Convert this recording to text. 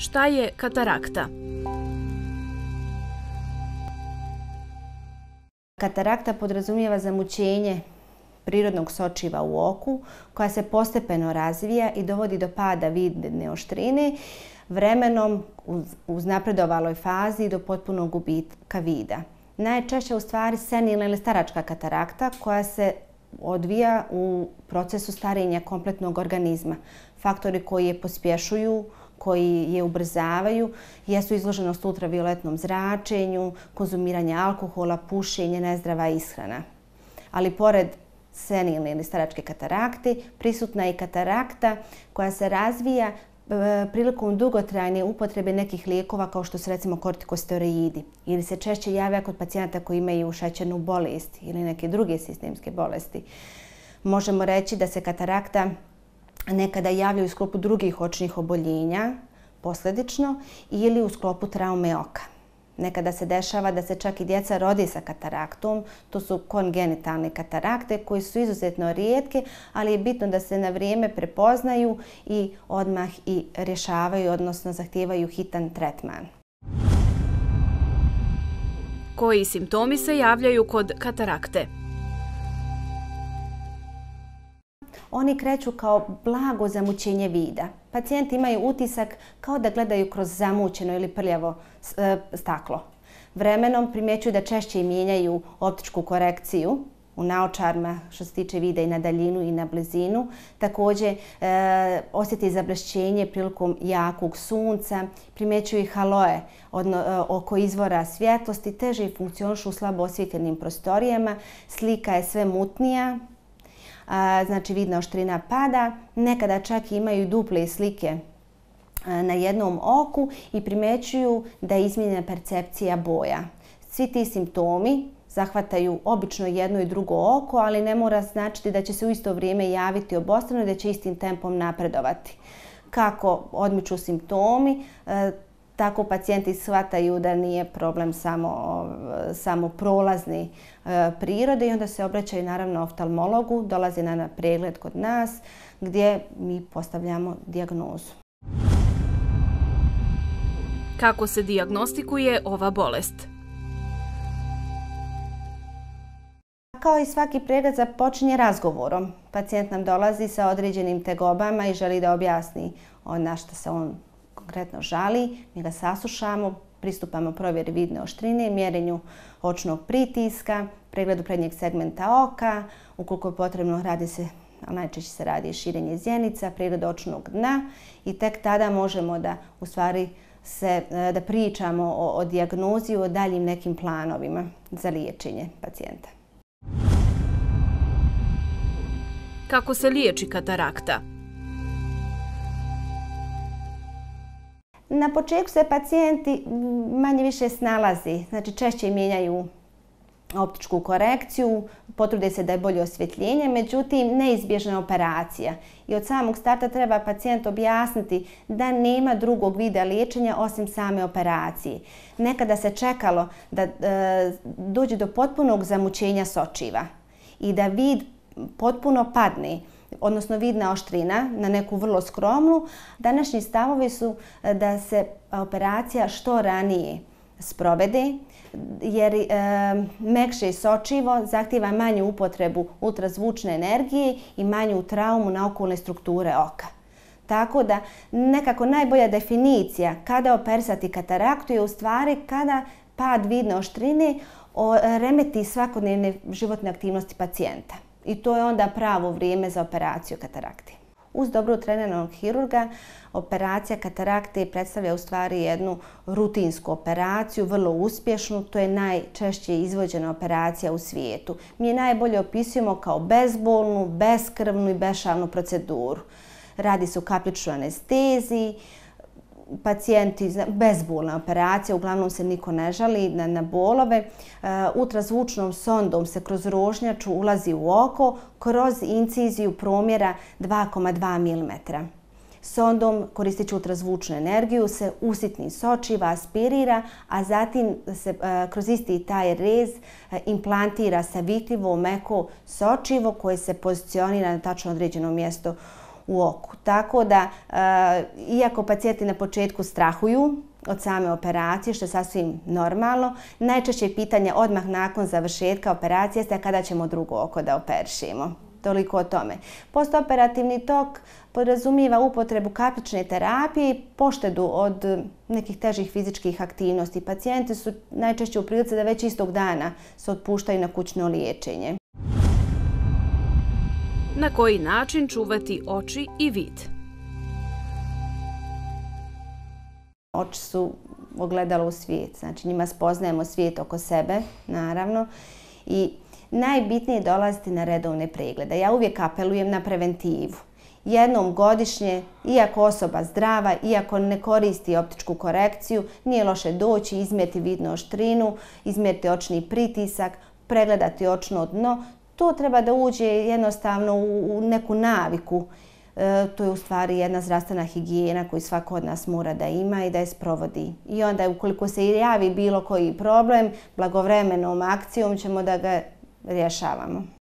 Šta je katarakta? Katarakta podrazumijeva zamućenje prirodnog sočiva u oku koja se postepeno razvija i dovodi do pada vidne oštrine, vremenom uz napredovaloj fazi do potpunog gubitka vida. Najčešće u stvari senilna ili staračka katarakta koja se odvija u procesu starenja kompletnog organizma. Faktori koji je pospješuju, koji je ubrzavaju, jesu izloženost ultravioletnom zračenju, konzumiranje alkohola, pušenje, nezdrava ishrana. Ali pored senilne ili staračke katarakte, prisutna je i katarakta koja se razvija prilikom dugotrajne upotrebe nekih lijekova kao što su recimo kortikosteroidi ili se češće javlja kod pacijenata koji imaju šećernu bolest ili neke druge sistemske bolesti. Možemo reći da se katarakta nekada javljaju u sklopu drugih očnih oboljenja posljedično ili u sklopu traume oka. Nekada se dešava da se čak i djeca rode sa kataraktom, to su kongenitalne katarakte koje su izuzetno rijetke, ali je bitno da se na vrijeme prepoznaju i odmah i rješavaju, odnosno zahtijevaju hitan tretman. Koji simptomi se javljaju kod katarakte? Oni kreću kao blago zamućenje vida. Pacijenti imaju utisak kao da gledaju kroz zamućeno ili prljavo staklo. Vremenom primjećuju da češće mijenjaju optičku korekciju u naočarima što se tiče vida i na daljinu i na blizinu. Također osjeti zablešćenje prilikom jakog sunca, primjećuju i haloe oko izvora svjetlosti, teže funkcionišu u slabo osvjetljenim prostorijama, slika je sve mutnija. Znači vidna oštrina pada, nekada čak imaju duple slike na jednom oku i primjećuju da je izmijenjena percepcija boja. Svi ti simptomi zahvataju obično jedno i drugo oko, ali ne mora značiti da će se u isto vrijeme javiti obostrano i da će istim tempom napredovati. Kako odmiču simptomi, tako pacijenti shvataju da nije problem samo prolazne prirode i onda se obraćaju naravno oftalmologu, dolaze na pregled kod nas gdje mi postavljamo dijagnozu. Kako se dijagnostikuje ova bolest? Kao i svaki pregled započinje razgovorom. Pacijent nam dolazi sa određenim tegobama i želi da objasni na što se on konkretno žali. Mi ga saslušamo, pristupamo provjeri vidne oštrine, mjerenju očnog pritiska, pregledu prednjeg segmenta oka, ukoliko je potrebno najčešće se radi širenje zjenica, pregled očnog dna i tek tada možemo da da pričamo o dijagnozi, o daljim nekim planovima za liječenje pacijenta. Kako se liječi katarakta? Na početku se pacijenti manje više snalazi, znači češće mijenjaju optičku korekciju, potrude se da je bolje osvjetljenje, međutim neizbježna je operacija. I od samog starta treba pacijent objasniti da nema drugog vida liječenja osim same operacije. Nekada se čekalo da dođe do potpunog zamućenja sočiva i da vid potpuno padne, odnosno vidna oštrina na neku vrlo skromnu. Današnji stavovi su da se operacija što ranije sprovede, jer mekše sočivo zahtijeva manju upotrebu ultrazvučne energije i manju traumu na okolne strukture oka. Tako da nekako najbolja definicija kada operisati kataraktu je u stvari kada pad vidne oštrine remeti svakodnevne životne aktivnosti pacijenta. I to je onda pravo vrijeme za operaciju katarakte. Uz dobro treniranog hirurga, operacija katarakte predstavlja u stvari jednu rutinsku operaciju, vrlo uspješnu. To je najčešće izvođena operacija u svijetu. Mi je najbolje opisujemo kao bezbolnu, beskrvnu i bešavnu proceduru. Radi se o kapličnoj anesteziji, pacijenti, bezbolna operacija, uglavnom se niko ne žali na bolove. Ultrazvučnom sondom se kroz rožnjaču ulazi u oko kroz inciziju promjera 2,2 mm. Sondom, koristeći ultrazvučnu energiju, se usitni sočiva, aspirira, a zatim se kroz isti taj rez implantira savitljivo meko sočivo koje se pozicionira na tačno određeno mjesto u oku. Tako da, iako pacijenti na početku strahuju od same operacije, što je sasvim normalno, najčešće pitanje odmah nakon završetka operacije jeste kada ćemo drugo oko da operišemo. Toliko o tome. Postoperativni tok podrazumijeva upotrebu kapične terapije i poštedu od nekih težih fizičkih aktivnosti. Pacijenti su najčešće u prilici da već istog dana se otpuštaju na kućno liječenje. Na koji način čuvati oči i vid? Oči su ogledalo u svijet, znači njima spoznajemo svijet oko sebe, naravno, i najbitnije je dolaziti na redovne preglede. Ja uvijek apelujem na preventivu. Jednom godišnje, iako osoba zdrava, iako ne koristi optičku korekciju, nije loše doći, izmjeriti vidnu oštrinu, izmjeriti očni pritisak, pregledati očno dno. To treba da uđe jednostavno u neku naviku. To je u stvari jedna zdravstvena higijena koju svako od nas mora da ima i da je sprovodi. I onda ukoliko se javi bilo koji problem, blagovremenom akcijom ćemo da ga rješavamo.